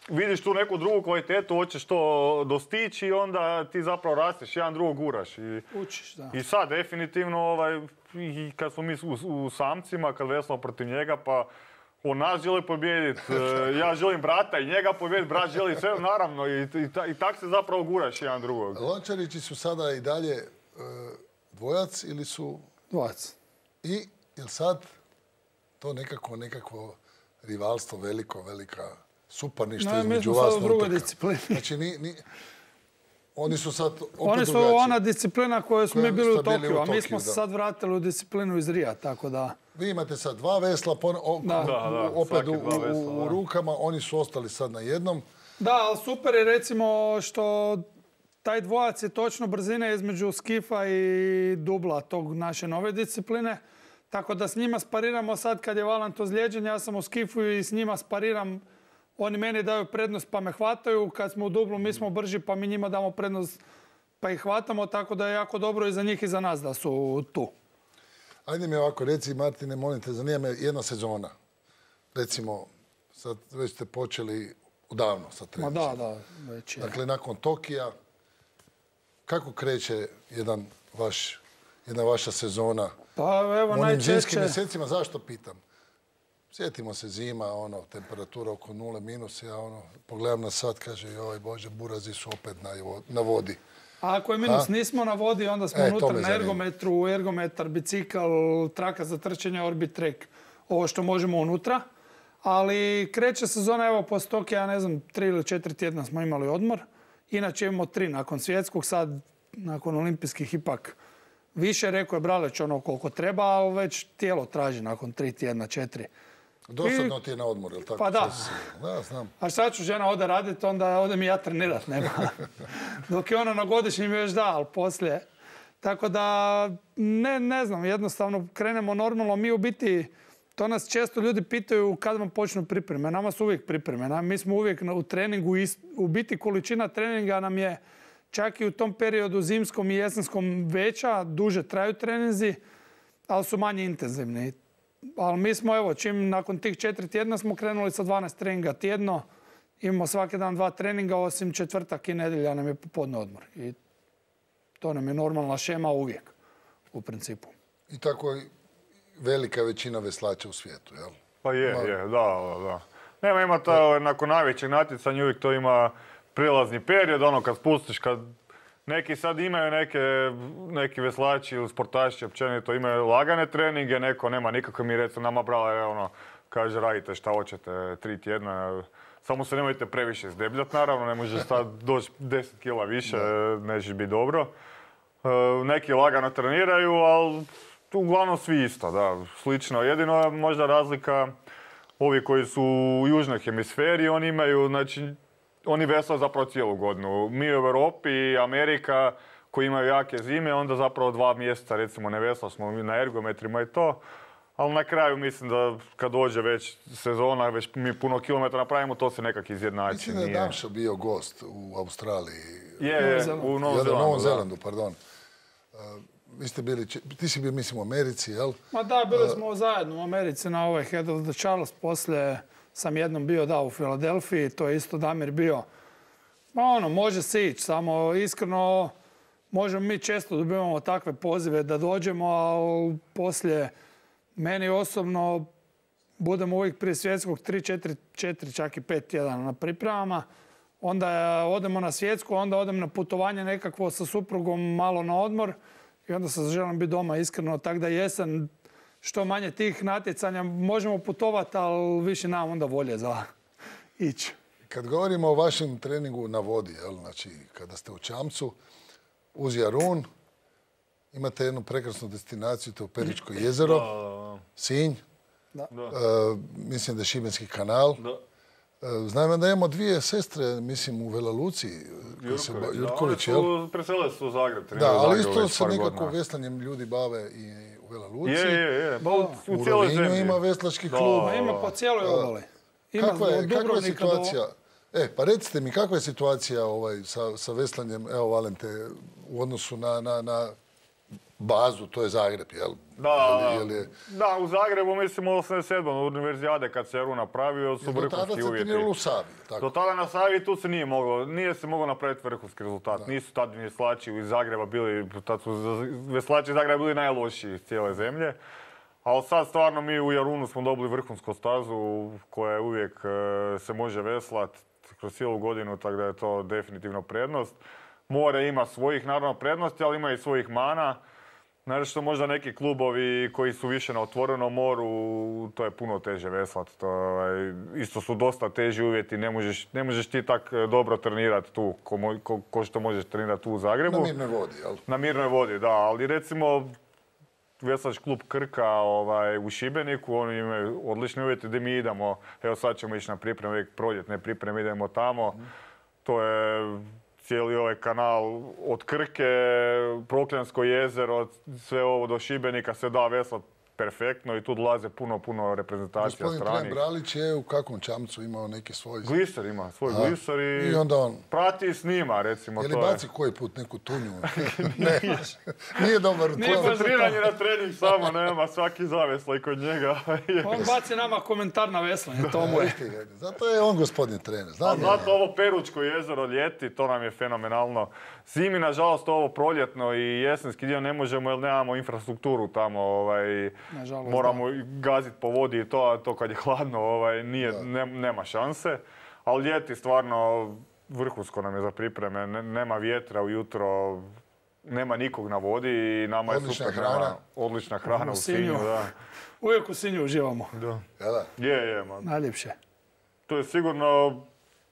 vidiš tu neku drugu kvalitetu, hoćeš to dostići i onda ti zapravo rasteš, jedan drugog guraš. I, Učiš, da. I sad, definitivno, ovaj, i kad smo mi u, u samcima, kad veslamo protiv njega, pa on nas želi pobijediti, ja želim brata i njega pobijediti, brat želi sve, naravno, i, i, i tak se zapravo guraš jedan drugog. Lončarići su sada i dalje e, dvojac ili su... Dvojac. I, jel sad to nekako, nekakvo rivalstvo veliko, velika... suparništvo između vas na utrka. Mi smo sad u drugoj disciplini. Znači, ni, ni, oni su sad opet Oni su drugačiji. Ona disciplina koju smo mi bili u Tokiju, a mi smo se sad vratili u disciplinu iz Rija, tako da... Vi imate sad dva vesla, pon, o, da. U, Da, da, opet u, vesla, u, u rukama, oni su ostali sad na jednom. Da, ali super je recimo što taj dvojac je točno brzine između skifa i dubla tog naše nove discipline. Tako da s njima spariramo sad kad je Valant ozlijeđen, ja sam u skifu i s njima spariram. Oni meni daju prednost pa me hvataju, kad smo u dublu mi smo brži pa mi njima damo prednost pa ih hvatamo, tako da je jako dobro i za njih i za nas da su tu. Ajde mi ovako, reci Martine, molim te, zanima me jedna sezona. Recimo, sad već ste počeli udavno sa trenizom. Ma da, da, već je. Dakle, nakon Tokija, kako kreće jedan vaš, jedna vaša sezona Pa evo U onim najčešće... zimskim mjesecima, zašto pitam? Sjetimo se zima, ono, temperatura oko nule minus, ja ono, pogledam na sat, kaže, joj Bože, burazi su opet na, na vodi. A ako je minus, A? nismo na vodi, onda smo E, unutra to me na zanima. ergometru, ergometar, bicikl, traka za trčanje, Orbitrek, ovo što možemo unutra. Ali kreće sezona, evo, poslije toga, ja ne znam, tri ili četiri tjedna smo imali odmor. Inače imamo tri nakon svjetskog, sad nakon olimpijskih ipak više. Rekao je Braleć ono koliko treba, ali već tijelo traži nakon tri tjedna, četiri. Dosadno ti je na odmor, jel tako? Pa da. Da, znam. A sad ću žena ode raditi, onda ode mi ja trenirat, nema. Dok je ona na godišnjim još da, ali poslije. Tako da, ne, ne znam, jednostavno krenemo normalno. Mi u biti, to nas često ljudi pitaju kad vam počnu pripreme. Nama su uvijek pripreme. Mi smo uvijek u treningu, u biti količina treninga nam je čak i u tom periodu zimskom i jesenskom veća, duže traju treninzi, ali su manje intenzivni. Ali mi smo, evo, čim nakon tih četiri tjedna smo krenuli sa dvanaest treninga tjedno. Imamo svaki dan dva treninga, osim četvrtak i nedjelja nam je popodne odmor. I to nam je normalna šema uvijek, u principu. I tako je velika većina veslača u svijetu, jel? Pa je, je, da, da. Nema, ima to, nakon najvećeg natjecanja uvijek to ima prilazni period, ono kad spustiš, kad neki sad imaju neke, neki veslači ili sportaši općenito imaju lagane treninge, neko nema nikako. Mi recimo nama brala, ono, kaže radite šta hoćete tri tjedna, samo se nemojte previše zdebljati naravno, ne možeš sad doći deset kila više, neće biti dobro. E, neki lagano treniraju, ali uglavnom svi isto, da, slično. Jedino je možda razlika, ovi koji su u južnoj hemisferi, oni imaju, znači, oni veslaju zapravo cijelu godinu. Mi u Europi i Amerika koji imaju jake zime, onda zapravo dva mjeseca recimo ne vesla smo na ergometrima i to. Ali na kraju mislim da kad dođe već sezona, već mi puno kilometara napravimo, to se nekak izjednači. Mislim da je Damša bio gost u Australiji. Je, je, u Novom Zelandu. Novom Zelandu, pardon. Vi ste bili, ti si bio mislim u Americi, jel? Ma da, bili smo zajedno u Americi na ovaj Head of the Charles, poslije sam jednom bio, da, u Filadelfiji, to je isto Damir bio. Ma ono, može se ići, samo iskreno možemo mi često dobivamo takve pozive da dođemo, ali poslije meni osobno budemo uvijek prije svjetskog tri, četiri, četiri, čak i pet tjedana na pripremama. Onda odemo na svjetsku, onda odem na putovanje nekakvo sa suprugom malo na odmor i onda se želim biti doma iskreno, tako da jesen što manje tih natjecanja možemo putovati, ali više nam onda volje za ići. Kad govorimo o vašem treningu na vodi, jel, znači kada ste u Čamcu, uz Jarun, imate jednu prekrasnu destinaciju, to je Peričko jezero, Sinj, Da. E, mislim da je Šibenski kanal. Da. E, znam da imamo dvije sestre, mislim, u Vela Luci. Jurković, Jurković, da, one su, presele su u Zagreb. Da, ali isto Zagreb se nekako godina. veslanjem ljudi bave i u Vela Luci. Je, je, je. Pa, u, u U cijeloj Rovinju zemlji. ima veslački Da. klub. Ma ima po cijeloj obali. Ima Kakva je, od kakva je Dubrovnika do- situacija? E, pa recite mi, kakva je situacija ovaj, sa, sa veslanjem, evo Valente, u odnosu na, na, na bazu, to je Zagreb, jel? Da, Jel- jel je- da, u Zagrebu mislim u osamdeset sedmom u univerzijade kad se Eru napravio su Jel do tada vrhunski se uvjeti. treniralo u Savi, tako? Do tada na Savi tu se nije moglo, nije se moglo napraviti vrhunski rezultat. Nisu tad veslači iz Zagreba bili, tad su veslači iz Zagreba bili najlošiji iz cijele zemlje. Ali sad stvarno mi u Jarunu smo dobili vrhunsku stazu koja je uvijek e, se može veslat kroz cijelu godinu, tako da je to definitivno prednost. More ima svojih naravno prednosti, ali ima i svojih mana. Znači što možda neki klubovi koji su više na otvorenom moru, to je puno teže veslat. To, ovaj, isto su dosta teži uvjeti, ne možeš, ne možeš ti tak dobro trenirati tu ko, mo- ko, ko što možeš trenirati tu u Zagrebu. Na mirnoj vodi, jel? Na mirnoj vodi, da, ali recimo veslač klub Krka ovaj, u Šibeniku, oni imaju odlične uvjete gdje mi idemo. Evo sad ćemo ići na pripreme, uvijek proljetne pripreme, idemo tamo. To je cijeli ovaj kanal od Krke, Prokljansko jezero, sve ovo do Šibenika se da veslat perfektno i tu dolaze puno, puno reprezentacija Gospodin stranih. Tren Bralić je u kakvom čamcu imao neki svoj... Gliser ima, svoj gliser i, I onda on... prati i snima, recimo. Je li to je. baci koji put neku tunju? Ne, nije dobar u Nije tome. baš za Koncentriranje na trening samo nema, svaki zaveslaj kod njega. On baci nama komentar na veslanje, to mu je. Zato je on gospodin trener. A Znam ja. zato ovo Peručko jezero ljeti, to nam je fenomenalno. Zimi, nažalost, ovo proljetno i jesenski dio ne možemo jer nemamo infrastrukturu tamo. Ovaj, Nažalost, moramo gaziti po vodi i to, a to kad je hladno ovaj, nije, ne- nema šanse. Ali ljeti stvarno vrhunsko nam je za pripreme. Ne- nema vjetra ujutro, nema nikog na vodi i nama Odlična je super hrana. Odlična hrana U u Sinju. Sinju, da. Uvijek u Sinju uživamo. da. Jel da? Je, je, man. Najljepše. To je sigurno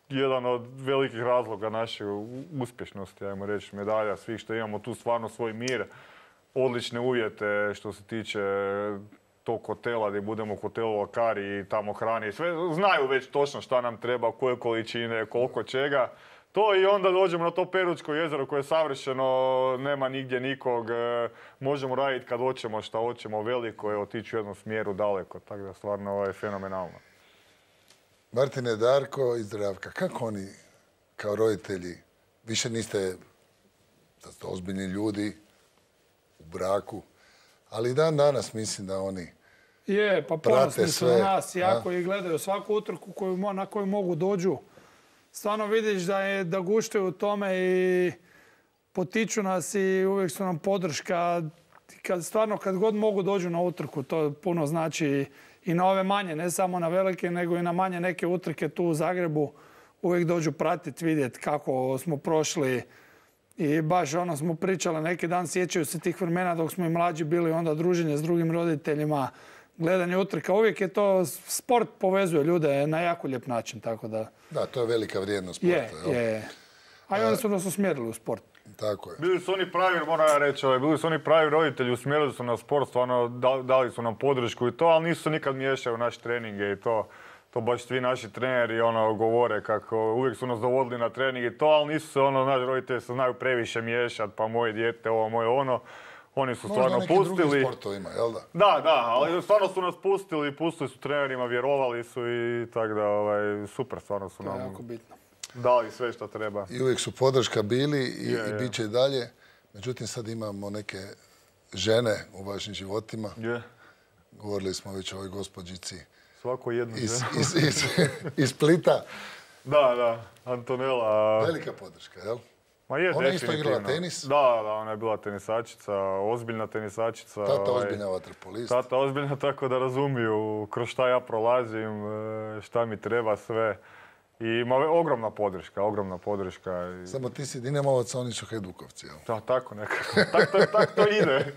jedan od velikih razloga naše u- uspješnosti, ajmo reći, medalja svih što imamo tu stvarno svoj mir, odlične uvjete što se tiče tog hotela gdje budemo u hotelu Akari i tamo hrani i sve. Znaju već točno šta nam treba, koje količine, koliko čega. To i onda dođemo na to Peručko jezero koje je savršeno, nema nigdje nikog, e, možemo raditi kad hoćemo šta hoćemo, veliko je otići u jednom smjeru daleko, tako da stvarno ovo je fenomenalno. Martine, Darko i Zdravka, kako oni kao roditelji, više niste da ste ozbiljni ljudi u braku, ali dan danas mislim da oni... Je, pa Prate ponosni su na sve, nas jako i gledaju svaku utrku koju, mo- na koju mogu dođu. Stvarno vidiš da, je, da guštaju u tome i potiču nas i uvijek su nam podrška. Kad, stvarno kad god mogu dođu na utrku, to puno znači i na ove manje, ne samo na velike, nego i na manje neke utrke tu u Zagrebu. Uvijek dođu pratiti, vidjeti kako smo prošli. I baš ono smo pričali neki dan, sjećaju se tih vremena dok smo i mlađi bili, onda druženje s drugim roditeljima, gledanje utrka. Uvijek je to, sport povezuje ljude na jako lijep način, tako da... Da, to je velika vrijednost sporta. Je, jel? je. A i onda su nas usmjerili u sport. Tako je. Bili su oni pravi, moram ja reći, ovaj, bili su oni pravi roditelji, usmjerili su na sport, stvarno da- dali su nam podršku i to, ali nisu se nikad miješali u naše treninge i to. To baš svi naši treneri ono, govore kako uvijek su nas dovodili na trening i to, ali nisu se ono, naši roditelji se znaju previše miješati, pa moje dijete, ovo, moje ono. Oni su Možda stvarno neki drugi pustili. sportovima, jel da? Da, da, ali stvarno su nas pustili, pustili su trenerima, vjerovali su i tako da, ovaj, super, stvarno su To je nam jako bitno. dali sve što treba. I uvijek su podrška bili i, Je, i je. bit će i dalje. Međutim, sad imamo neke žene u vašim životima. Je, Govorili smo već o ovoj gospođici svako jedno iz, žena. iz, iz, iz Splita. Da, da, Antonela. Velika podrška, jel? Ma je, Ona je isto definitivno. igrala tenis? Da, da, ona je bila tenisačica, ozbiljna tenisačica. Tata ovaj, ozbiljna vaterpolist. Tata ozbiljna, tako da razumiju kroz šta ja prolazim, e, šta mi treba sve. I ima ogromna podrška, ogromna podrška. I... Samo ti si Dinamovac, a oni su Hajdukovci, jel? Da, tako nekako. tak, to, tak to ide.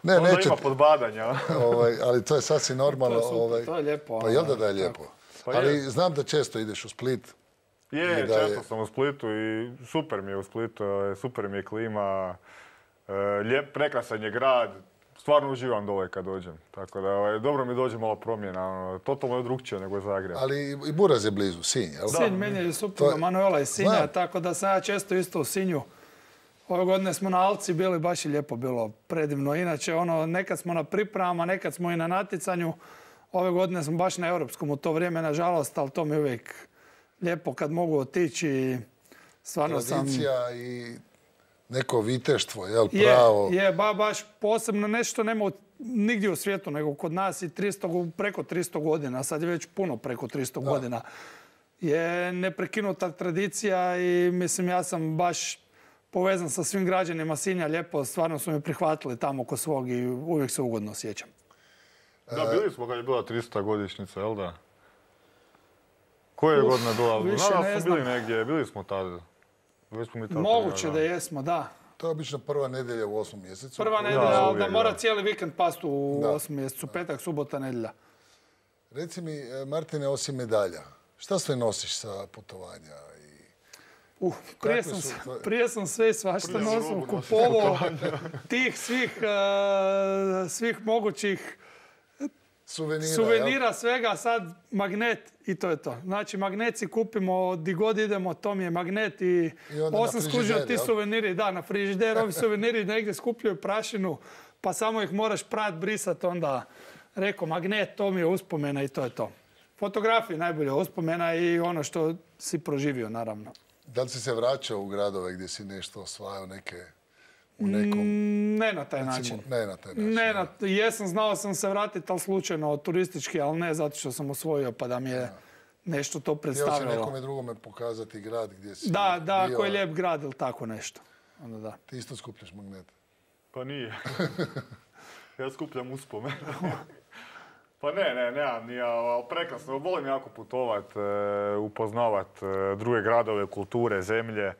Ne, Onda neće, ima podbadanja. ovaj, ali to je sasvim normalno. To je super, ovaj, to je lijepo, Pa jel da ono, da je lijepo? Pa ali je. znam da često ideš u Split. Je, I da je- često sam u Splitu i super mi je u Splitu, e, super mi je klima, e, lijep, prekrasan je grad. Stvarno uživam dole kad dođem. Tako da ovaj, dobro mi dođe malo promjena. Ono, totalno je drugčije nego Zagreb. Ali i Buraz je blizu, Sinj, jel? Sin, meni je supruga To je- Manuela iz Sinja, Znam. tako da sam ja često isto u Sinju. Ove godine smo na Alci bili, baš je lijepo bilo, predivno. Inače, ono, nekad smo na pripremama, nekad smo i na natjecanju. Ove godine smo baš na europskom u to vrijeme, nažalost, ali to mi je uvijek lijepo kad mogu otići. i Stvarno sam... Tradicija i neko viteštvo, jel? Je, Pravo. je ba, baš posebno nešto nema u- nigdje u svijetu, nego kod nas i tristo, go- preko tristo godina, sad je već puno preko tristo godina. Je neprekinuta tradicija i mislim ja sam baš povezan sa svim građanima Sinja, lijepo, stvarno su me prihvatili tamo kod svog i uvijek se ugodno osjećam. Da, bili smo kad je bila trista godišnjica, jel da? Koje je Uf, godina bila? više Znam da ne smo bili znam. negdje, bili smo tada. Već smo mi tada Moguće da trenirali. jesmo, da. To je obično prva nedjelja u osmom mjesecu. Prva Ja, nedjelja, ali da uvijek, mora da. cijeli vikend pasti u Da. osmom mjesecu, petak, subota, nedjelja. Reci mi, e, Martine, osim medalja, šta sve nosiš sa putovanja? I... Uh, prije, Kakve sam, su s- tvoje- prije sam sve svašta Prije nosio, robu nosiš kupovao tih svih, eh, svih mogućih Suvenira, jel? suvenira, svega, sad magnet i to je to. Znači magnet si kupimo di god idemo, to mi je magnet i, I onda na osam skužio frižider, ti jel? suveniri, da, na frižider, ovi suveniri negdje skupljaju prašinu, pa samo ih moraš prat, brisat, onda rekao magnet, to mi je uspomena i to je to. Fotografije najbolje uspomena i ono što si proživio, naravno. Da li si se vraćao u gradove gdje si nešto osvajao neke u nekom... Mm, ne na taj recimo, način. Ne na taj način. Ne, na, jesam, znao sam se vratiti, ali slučajno turistički, ali ne zato što sam osvojio pa da mi je ja. nešto to predstavilo. Htio si nekome drugome pokazati grad gdje si Da, da, bio. koji je lijep grad ili tako nešto. Onda da. Ti isto skupljaš magnete? Pa nije. Ja skupljam uspomenu. Pa ne, ne, nemam nije, ali prekrasno. Volim jako putovat, upoznavat druge gradove, kulture, zemlje.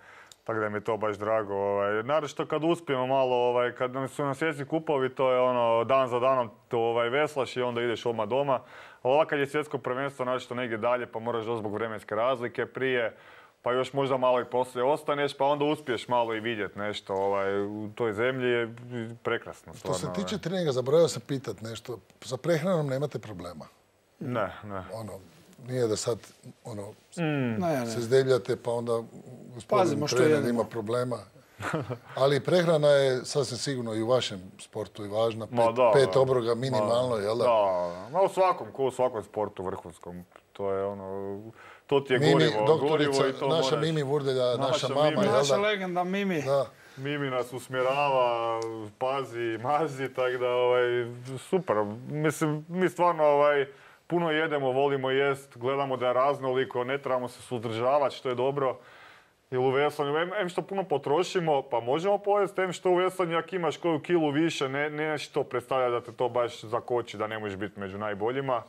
Tako da mi je to baš drago. Ovaj. Naravno kad uspijemo malo, ovaj, kad su nam svjetski kupovi, to je ono, dan za danom to ovaj, veslaš i onda ideš odmah doma. A ovako kad je svjetsko prvenstvo, naravno negdje dalje, pa moraš doći zbog vremenske razlike prije, pa još možda malo i poslije ostaneš, pa onda uspiješ malo i vidjeti nešto ovaj, u toj zemlji, je prekrasno. Stvarno, Što se tiče ovaj. treninga, zaboravio sam pitat nešto. Sa prehranom nemate problema? Ne, ne. Ono, nije da sad ono, mm. ne, ne. se zdebljate pa onda gospodin trener ima problema. Ali prehrana je sasvim sigurno i u vašem sportu i važna. Pet, da, pet da. obroga minimalno, Ma, jel da? Da, ma u svakom, ko u svakom sportu vrhunskom. To je ono, to ti je Mimi, gorivo, doktorica, gorivo i to naša moraš. Mimi Vurdelja, naša, Naša mama, Mimi. jel da? Naša legenda Mimi. Da. Mimi nas usmjerava, pazi, mazi, tako da ovaj, super. Mislim, mi stvarno ovaj, puno jedemo, volimo jest, gledamo da je raznoliko, ne trebamo se suzdržavati, što je dobro. Jer u veslanju, em, em što puno potrošimo, pa možemo pojesti, em što u veslanju, ako imaš koju kilu više, ne, ne što predstavlja da te to baš zakoči, da ne možeš biti među najboljima.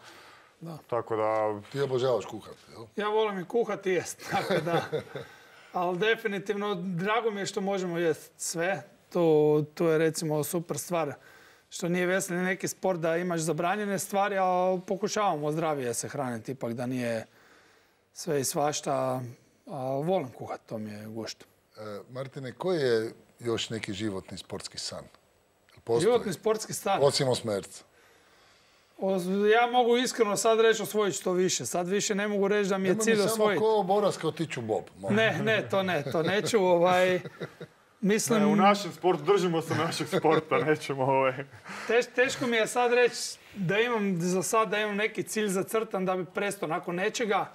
Da. Tako da... Ti obožavaš kuhati, jel? Ja volim i kuhati i jest, tako da. Ali definitivno, drago mi je što možemo jest sve. To, to je recimo super stvar. Što nije veslanje neki sport da imaš zabranjene stvari, a pokušavamo zdravije se hraniti, ipak da nije sve i svašta. A volim kuhati, to mi je gušt. E, Martine, koji je još neki životni sportski san? Postoji? Životni sportski san? Osim osmerca. Ja mogu iskreno sad reći osvojiti što više. Sad više ne mogu reći da mi je cilj osvojiti. Samo ko Boras kao tiču Bob. Molim. Ne, ne, to ne, to neću. Ovaj, mislim... Ne, u našem sportu, držimo se našeg sporta, nećemo ovaj... Teš, teško mi je sad reći da imam, za sad da imam neki cilj zacrtan da bi prestao nakon nečega.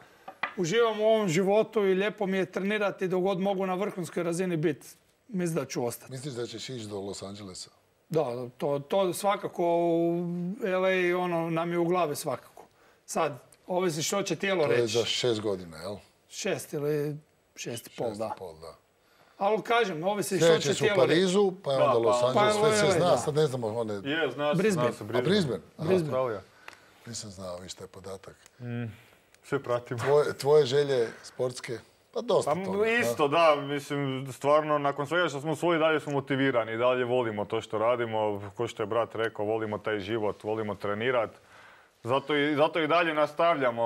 Uživam u ovom životu i lijepo mi je trenirati dok god mogu na vrhunskoj razini biti. Mislim da ću ostati. Misliš da ćeš ići do Los Angelesa? Da, to, to svakako u L A ono, nam je u glavi svakako. Sad, ovisi što će tijelo reći. To je za šest godina, jel? Šest ili šest i pol, šest da. I pol, da. Ali kažem, ovisi što će Sljedeće su u tijelo reći. Parizu, pa je onda Da, Los pa- Angeles, pa sve se L A, zna, da. sad ne znamo one... Je, zna se, Brisbane. zna se, A Brisbane? Aha. Australija. Nisam znao, viš taj podatak. Sve pratimo. Tvoje, tvoje želje sportske? Pa dosta Pa toga. isto, da, mislim, stvarno, nakon svega što smo usvojili, dalje smo motivirani, dalje volimo to što radimo, ko što je brat rekao, volimo taj život, volimo trenirati. Zato i, zato i dalje nastavljamo.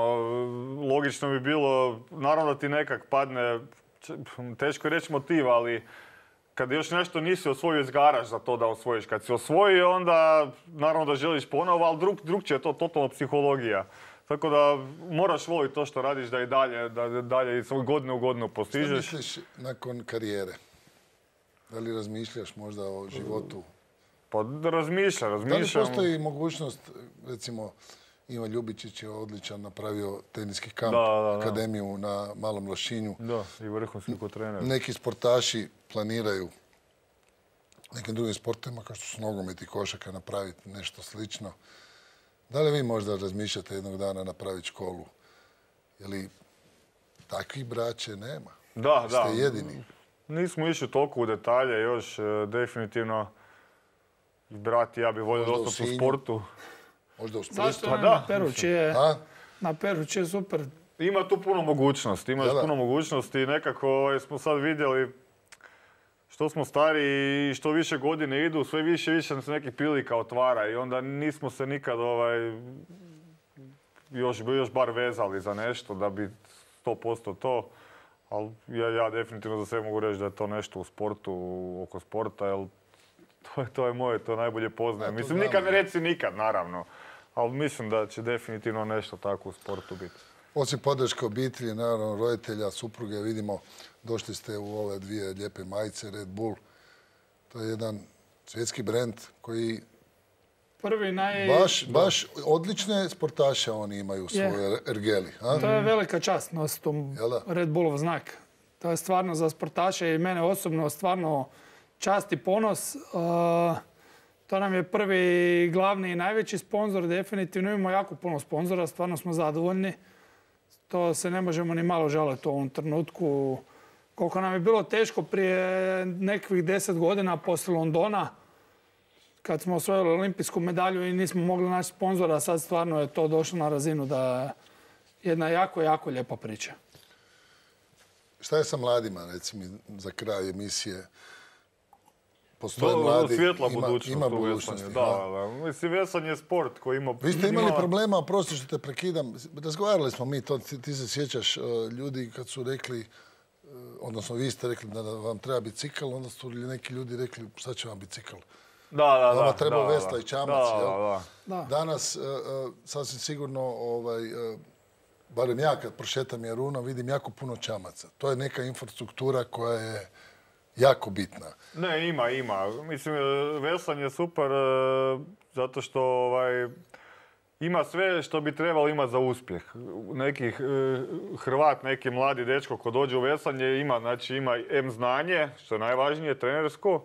Logično bi bilo, naravno da ti nekak padne, teško je reći motiv, ali kad još nešto nisi osvojio, izgaraš za to da osvojiš. Kad si osvojio, onda naravno da želiš ponovo, ali drug, drugčije je to totalno psihologija. Tako da moraš voliti to što radiš, da i dalje, da dalje iz godine u godinu Šta postižeš. misliš nakon karijere? Da li razmišljaš možda o životu? Pa da razmišljam, Da li razmišljam. postoji mogućnost, recimo, Ivan Ljubičić je odličan, napravio teniski kamp, Da, da, da. akademiju na Malom Lošinju. Da, i vrhunski ko trener. Neki sportaši planiraju nekim drugim sportovima, kao što su nogomet i košarka, napraviti nešto slično. Da li vi možda razmišljate jednog dana napraviti školu? Je li takvih braće nema? Da, da. Ste jedini. Nismo išli toliko u detalje još, e, definitivno. Brat i ja bi volio Možda u ostati u Sinju. sportu. Možda u Zašto Splitu? ne? Pa da, Na Perući je, A? na Perući je super. Ima tu puno mogućnosti, ima Da, da. puno mogućnosti i nekako ovaj, smo sad vidjeli što smo stari i što više godine idu, sve više i više se nekih prilika otvara i onda nismo se nikad ovaj, još, još bar vezali za nešto da bi sto posto to. Ali ja, ja definitivno za sve mogu reći da je to nešto u sportu, oko sporta, jer to je, to je moje, to najbolje poznajem. Ja, to Mislim, znam, nikad ne ja. reci nikad, naravno. Ali mislim da će definitivno nešto tako u sportu biti. Osim podrške obitelji, naravno roditelja, supruge, vidimo, došli ste u ove dvije lijepe majice, Red Bull. To je jedan Svjetski brend koji Prvi naj... baš, baš odlične sportaše oni imaju u svojoj ergeli. A? To je velika čast nositi Jel da? Red Bullov znak. To je stvarno za sportaše i mene osobno stvarno čast i ponos. Uh, to nam je prvi, glavni i najveći sponzor. Definitivno imamo jako puno sponzora, stvarno smo zadovoljni. To se ne možemo ni malo žaliti u ovom trenutku. Koliko nam je bilo teško prije nekih deset godina poslije Londona, kad smo osvojili olimpijsku medalju i nismo mogli naći sponzora, sad stvarno je to došlo na razinu da je jedna jako, jako lijepa priča. Šta je sa mladima, recimo, za kraj emisije? Postoje Do, mladi, svjetla ima, budućnost ima u budućnosti. veslanju. Da, da. Mislim, veslanje je sport koji ima... Vi ste imali ima- problema, oprosti što te prekidam, razgovarali smo mi to, ti, ti se sjećaš, uh, ljudi kad su rekli, uh, odnosno vi ste rekli da vam treba bicikl, onda su neki ljudi rekli šta će vam bicikl? Da, da, da. Vama treba da, vesla da. i čamac, Da, jel? da, da. Da. Danas, uh, uh, sasvim sigurno, ovaj, uh, barem ja kad prošetam Jarunom, vidim jako puno čamaca. To je neka infrastruktura koja je jako bitna. Ne, ima, ima. Mislim, veslanje je super e, zato što ovaj, ima sve što bi trebalo imati za uspjeh. Neki e, Hrvat, neki mladi dečko ko dođe u veslanje ima, znači ima em znanje, što je najvažnije, trenersko,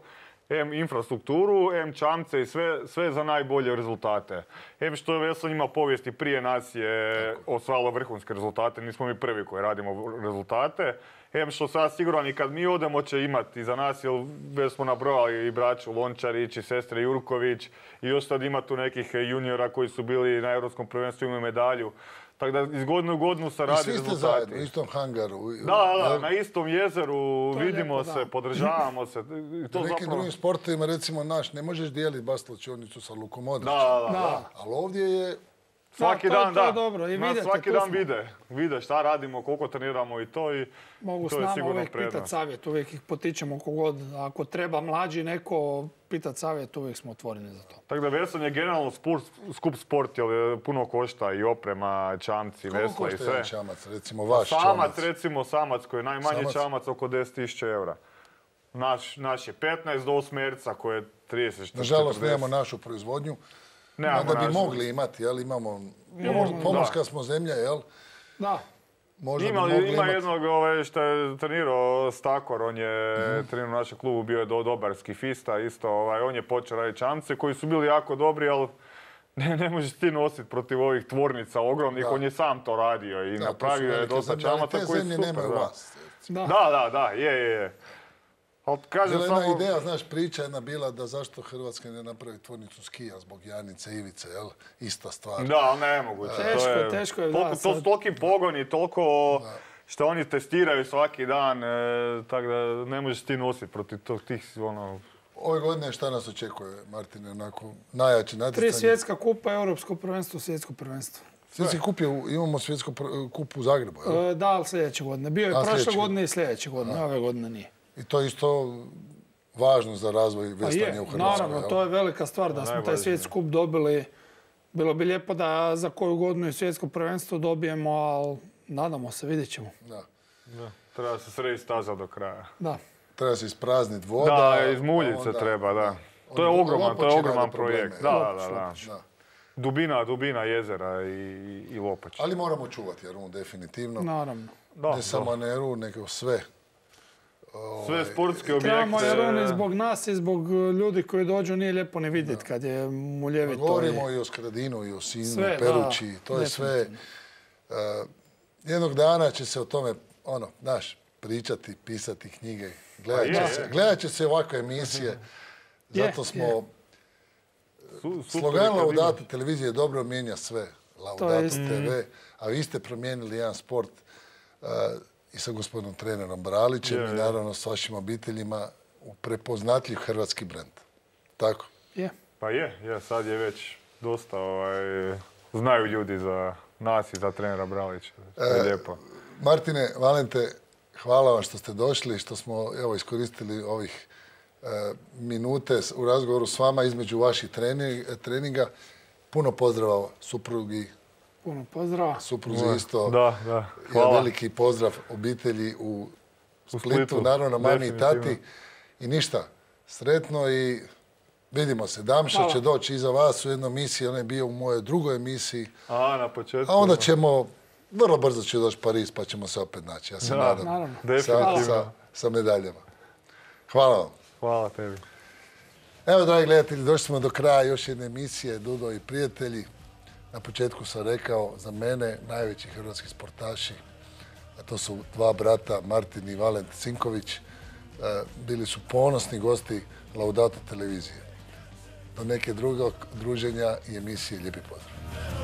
em infrastrukturu, em čamce i sve, sve za najbolje rezultate. Em što je veslanje ima povijesti, prije nas je osvajalo vrhunske rezultate, nismo mi prvi koji radimo rezultate. Em što sad siguran i kad mi odemo će imati za nas, jer već smo nabrojali i braću Lončarić i sestre Jurković i još sad ima tu nekih juniora koji su bili na Europskom prvenstvu, imaju medalju. Tako da iz godine u godinu se I radi svi ste rezultati. zajedno, u istom hangaru. Da, da, Jel? na istom jezeru To je vidimo lijepo, se, da. podržavamo se. I to U nekim zapravo... drugim sportovima, recimo naš, ne možeš dijeliti baš slačionicu sa Lukom Da, Modrićem. da, da. Da. Ali ovdje je, Svaki Da, to je- dan, to je da. dobro. I Nas vidite, svaki tu dan smo. vide. Vide šta radimo, koliko treniramo i to. I Mogu s to je nama sigurno uvijek pitati prednost. savjet, uvijek ih potičemo kogod. Ako treba mlađi neko pitati savjet, uvijek smo otvoreni za to. Tako da veslanje je generalno sport, skup sport, jer puno košta i oprema, čamci, koliko vesla i košta sve. jedan čamac, recimo vaš Samac, čamac? recimo samac koji je najmanji Samac? čamac oko deset tisuća eura. Naš, naš je petnaest do osmerca koji je trideset četrdeset. Nažalost, nemamo našu proizvodnju. Nemamo Mada bi našu. mogli imati, jel? Imamo, Imamo, pomorska da. smo zemlja, jel? Da, Možda Ima, bi mogli ima imati. jednog ovaj, što je trenirao Stakor, on je Mhm. trenirao u našem klubu, bio je do, dobar skifista isto, ovaj, on je počeo raditi čamce koji su bili jako dobri, ali ne, ne možeš ti nositi protiv ovih tvornica ogromnih, Da. on je sam to radio i Da, to su napravio je velike dosta zemlje, ali čamaca te koji su zemlje super. nemaju Da. vas. da. da, da, da, je, je, je. Ali kažem Bila je jedna samo... ideja, znaš, priča jedna bila da zašto Hrvatska ne napravi tvornicu skija zbog Janice Ivice, jel? Ista stvar. Da, ali nemoguće. Teško to je, je, teško je, toliko- da, To sad- su toliki pogoni, toliko što oni testiraju svaki dan, e, tako da ne možeš ti nositi protiv tog, tih, ono... Ove godine šta nas očekuje, Martine, onako najjači Tri natjecanje? svjetska kupa, europsko prvenstvo, svjetsko prvenstvo. Svjetski kup je, u- imamo svjetsko pr- kup u Zagrebu, jel? E, Da, ali sljedeće godine. Bio je A, prošle sljedeće godine i sljedeće godine, ove godine nije. I to je isto važno za razvoj Pa veslanja je, u Hrvatskoj, naravno, jel? to je velika stvar da smo taj Najvažnije. svjetski kup dobili. Bilo bi lijepo da za koju godinu i svjetsko prvenstvo dobijemo, ali nadamo se, vidjet ćemo. Da. Da, treba se srediti staza do kraja. Da. Treba se isprazniti voda. Da, izmuljit se onda- treba, da. To je Onda ogroman, to je Lopoči ogroman rade probleme, projekt. jel? Da, Lopoč, da, da. Lopoč. Da. Dubina, dubina jezera i, i Lopoč. Ali moramo čuvati Jarun, definitivno. Naravno. Da, Ne samo Neru, nego sve. sve sportske objekte. Trebamo Jarun i zbog nas i zbog ljudi koji dođu, nije lijepo ni vidjeti kad je Pa muljevito. govorimo i o Skradinu, i o Sinju, Sve, Perući, da, to je sve. Uh, jednog dana će se o tome, ono, znaš, pričati, pisati knjige. Gledat Pa će, je, se, je. gledat će se ovakve emisije. Zato Je, smo... je. Su- super Slogan je kad Laudato televizije dobro mijenja sve. Laudato isto. te ve. A vi ste promijenili jedan sport uh, i sa gospodinom trenerom Bralićem Je, i je. naravno s vašim obiteljima u prepoznatljiv hrvatski brend. Tako. Je. Pa je, je, sad je već dosta, ovaj, znaju ljudi za nas i za trenera Bralića. To je E, lijepo. Martine, Valente, hvala vam što ste došli, što smo evo, iskoristili ovih e, minute s- u razgovoru s vama između vaših treni- treninga. Puno pozdrava suprugi, Puno pozdrava. supruzi isto. Da, da, I hvala. veliki pozdrav obitelji u Splitu, Splitu, naravno mami i tati. definitivno. I ništa, sretno i Vidimo se. Damša će doći iza vas u jednoj emisiji, on je bio u mojoj drugoj emisiji. A, na početku. A onda ćemo, vrlo brzo će doći Pariz, pa ćemo se opet naći. Ja se nadam. Definitivno. Sa, sa medaljama. Hvala vam. Hvala tebi. Evo, dragi gledatelji, došli smo do kraja još jedne emisije Dudo i prijatelji. Na početku sam rekao, za mene najveći hrvatski sportaši, a to su dva brata, Martin i Valent Cinković, bili su ponosni gosti Laudato televizije. Do neke drugog druženja i emisije. Lijepi pozdrav.